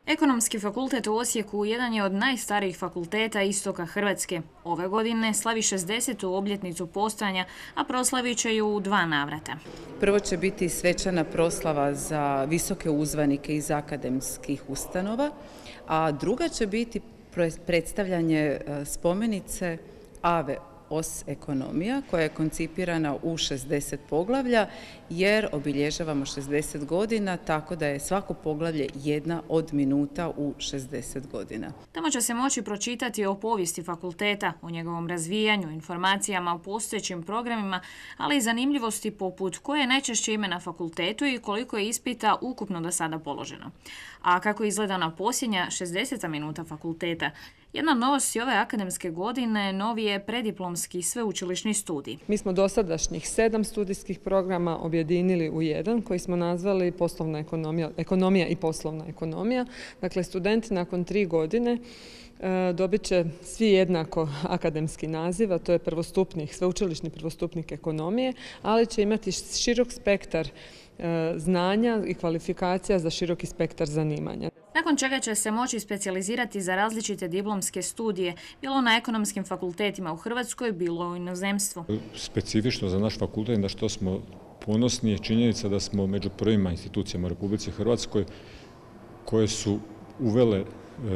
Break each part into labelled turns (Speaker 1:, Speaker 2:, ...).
Speaker 1: Ekonomski fakultet u Osijeku jedan je od najstarijih fakulteta istoka Hrvatske. Ove godine slavi 60. obljetnicu postojanja, a proslavit će ju u 2 navrata.
Speaker 2: Prvo će biti svečana proslava za visoke uzvanike iz akademskih ustanova, a druga će biti predstavljanje spomenice Ave Os ekonomija, koja je koncipirana u 60 poglavlja, jer obilježavamo 60 godina, tako da je svako poglavlje jedna od minuta u 60 godina.
Speaker 1: Tamo će se moći pročitati o povijesti fakulteta, o njegovom razvijanju, informacijama o postojećim programima, ali i zanimljivosti poput koje je najčešće ime na fakultetu i koliko je ispita ukupno do sada položeno. A kako izgleda na posljednja 60. minuta fakulteta? Jedna novost ove akademske godine novi je prediplomski sveučilišni studij.
Speaker 3: Mi smo dosadašnjih 7 studijskih programa objedinili u jedan koji smo nazvali ekonomija i poslovna ekonomija. Dakle, studenti nakon 3 godine dobit će svi jednako akademski naziv, a to je sveučilišni prvostupnik ekonomije, ali će imati širok spektar znanja i kvalifikacija za široki spektar zanimanja.
Speaker 1: Nakon čega će se moći specijalizirati za različite diplomske studije, bilo na ekonomskim fakultetima u Hrvatskoj, bilo u inozemstvu.
Speaker 4: Specifično za naš fakultet, na što smo ponosni, je činjenica da smo među prvima institucijama u Republici Hrvatskoj koje su uvele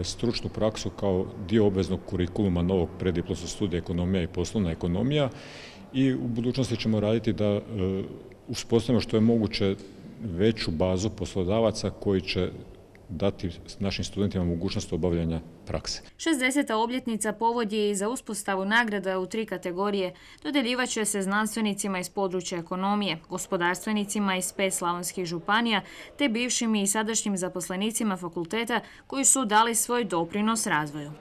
Speaker 4: stručnu praksu kao dio obveznog kurikuluma novog preddiplomskog studija ekonomija i poslovna ekonomija, i u budućnosti ćemo raditi da uspostavimo što je moguće veću bazu poslodavaca koji će dati našim studentima mogućnost obavljanja prakse.
Speaker 1: 60. obljetnica povod je i za uspostavu nagrada u 3 kategorije. Dodjeljivat će se znanstvenicima iz područja ekonomije, gospodarstvenicima iz 5 slavonskih županija, te bivšim i sadašnjim zaposlenicima fakulteta koji su dali svoj doprinos razvoju.